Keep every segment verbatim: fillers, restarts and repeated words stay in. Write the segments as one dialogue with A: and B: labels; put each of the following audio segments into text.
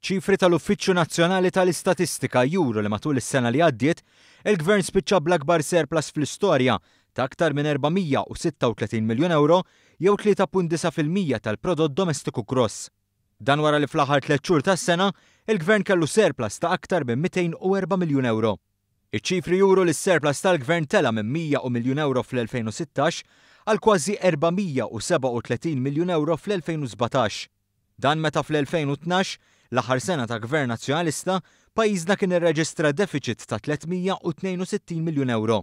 A: Ċifri tal-Uffiċċju Nazzjonali tal-Istatistika juru li matul is-sena li għaddiet, il-Gvern spiċċa bl-akbar surplus fl-istorja ta' aktar minn erba' mija u sitta u tletin miljun euro jew tlieta punt disa' fil-mija tal-prodott domestiku gross. Dan wara li fl-aħħar tliet xhur tas-sena, il-Gvern kellu surplus ta' aktar minn mitejn u erba' miljun euro. Iċ-ċifri juru li s-surplus tal-Gvern tela' minn mija u miljun euro fl-elfejn u sittax għal kważi erba' mija u sebgħa u tletin miljun euro fl-elfejn u sbatax. Dan meta fl-elfejn u tnax, l-aħħar sena ta' Gvern Nazzjonalista, pajjiżna kien irreġistra deficit ta' tliet mija u tnejn u sittin miljun euro.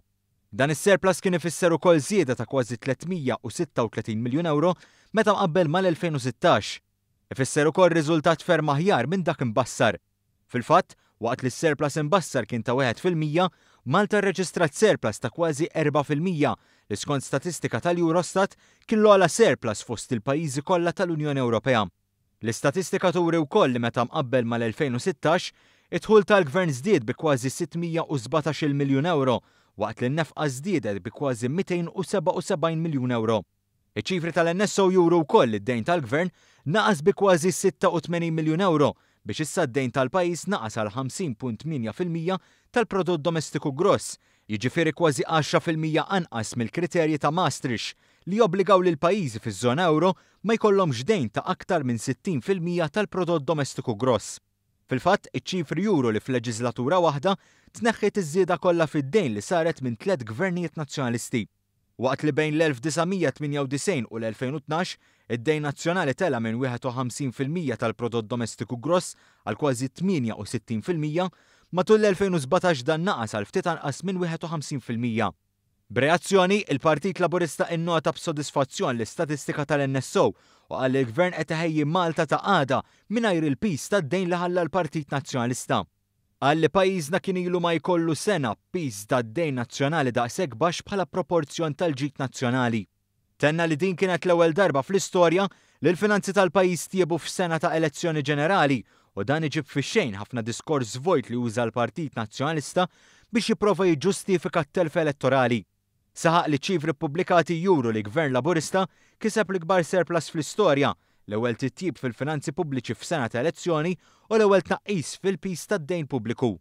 A: Dan is-surplus kien ifisser ukoll żieda ta' kważi tliet mija u sitta u tletin miljun euro meta mqabbel mal-elfejn u sittax. Ifisser ukoll riżultat ferm aħjar minn dak imbassar. Fil-fatt, waqt li s-surplus imbassar kien ta' wieħed fil-mija, Malta rreġistrat surplus ta' kważi erba' fil-mija li skont statistika tal-Eurostat kien l-ogħla surplus fost il-pajjiżi kollha tal-Unjoni Ewropea. L-istatistika turi wkoll li meta mqabbel mal-elfejn u sittax, id-dħul tal-Gvern żdied bi kważi sitt mija u sbatax-il miljun euro, waqt li n-nefqa żdiedet bi kważi mitejn u sebgħa u sebgħin miljun euro. Iċ-ċifri tal-N S O juru wkoll li d-dejn tal-Gvern naqas bi kważi sitta u tmenin miljun euro biex issa d-dejn tal-pajjiż naqas għal ħamsin punt tmienja fil-mija tal-prodott domestiku gross, jiġifieri kważi għaxra fil-mija anqas mill-kriterji ta' Maastricht li jobbligaw lil pajjiżi fiż-żona euro ma jkollhomx dejn ta' aktar minn sittin fil-mija tal-prodott domestiku gross. Fil-fatt, iċ-ċifri juru li f'leġislatura waħda tneħħiet iż-żieda kollha fid-dejn li saret minn tliet gvernijiet nazzjonalisti. Waqt li bejn l-elf disa' mija tmienja u disgħin u l-elfejn u tnax, id-dejn nazzjonali tela minn wieħed u ħamsin fil-mija tal-prodott domestiku gross għal kważi tmienja u sittin fil-mija, matul l-elfejn u sbatax dan naqas għal ftit anqas minn wieħed u ħamsin fil-mija. B'reazzjoni, il-Partit Laburista innota b'sodisfazzjon l-istatistika tal-N S O u qal li l-Gvern qed iħejji Malta ta' għada mingħajr il-pis tad-dejn li ħalla l-Partit Nazzjonalista. Qal li pajjiżna kien ilu ma jkollu sena pis tad-dejn nazzjonali daqshekk baxx bħala proporzjon tal-ġid nazzjonali. Tenna li din kienet l-ewwel darba fl-istorja li l-finanzi tal-pajjiż tjiebu f'sena ta' elezzjoni ġenerali u dan iġib fix-xejn ħafna diskors vojt li uża l-Partit Nazzjonalista biex jipprova jiġġustifika t-telf elettorali. Saħaq li ċifri ppubblikati juru li Gvern Laburista kiseb l-ikbar surplus fl-istorja, l-ewwel titjib fil-finanzi pubbliċi f'sena ta' elezzjoni u l-ewwel tnaqqis fil-pis tad-dejn pubbliku.